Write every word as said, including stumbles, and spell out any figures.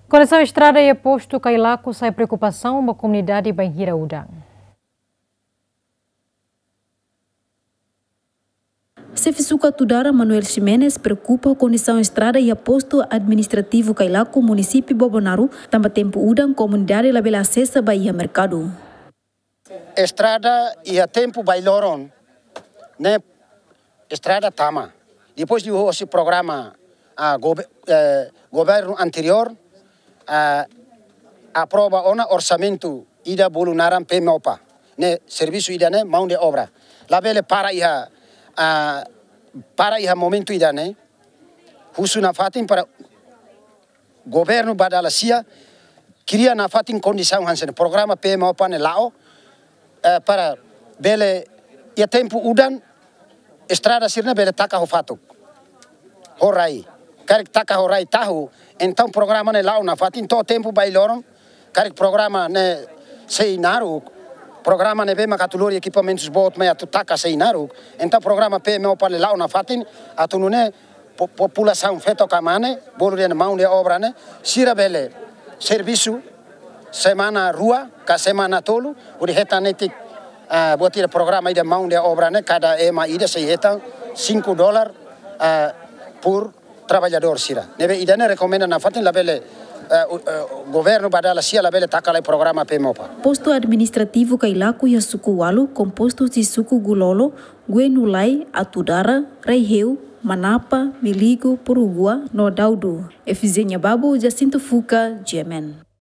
Kondisaun estrada iha postu Kailaku sai preokupasaun ba komunidade bainhira udan. Xefe Suku Atudara Manuel Ximenes preokupa ho kondisaun estrada iha postu administrativu Kailaku, munisípiu Bobonaro, tanba tempu udan komunidade labele asesa ba iha merkadu. Estrada iha tempu bailoron ne'e estrada tama. Depois de hosi programa, ah, gobe-, eh, governu anteriór, ah, aprova ona orsamentu ida bolu naran P M O PA. Ne'e servisu ida-ne'e mão de obra. Labele para iha, ah, para iha momentu ida-ne'e. Husu nafatin para governu ba dala sia kria nafatin kondisaun hanesan programa P M O PA ne'e la'o, eh, para bele iha tempu udan estrada sira-ne'e bele taka ho fatuk, ho rai. Karik taka ho rai tahu, entaun programa ne'e la'o nafatin to'o tempu bailoron. Karik programa ne'e sei naruk, programa ne'ebé maka atu lori ekipamentus boot mai atu taka sei naruk, entaun programa P M O PA ne'e la'o nafatin atu nune'e po-, populasaun feto ka mane, bolu dehan mão de obra ne'e, sira bele servisu semana rua ka semana tolu, hodi hetan netik, ah, buat ida programa ida mão de obra ne'e, kada ema ida sei hetan cinco dólar, ah, por trabalhador sira. Ne'ebé ida-ne'e rekomenda nafatin labele, eh, u-, eh, governu ba dala sia labele taka lai programa P M O PA. Postu administrativu Kailaku iha suku ualu, kompostu husi suku Gulolo, Guenulai, Atudara, Raiheu, Manapa, Miligo, Porugua no Daudu. Efizenia Babu, Jacinto Fuca, G M N.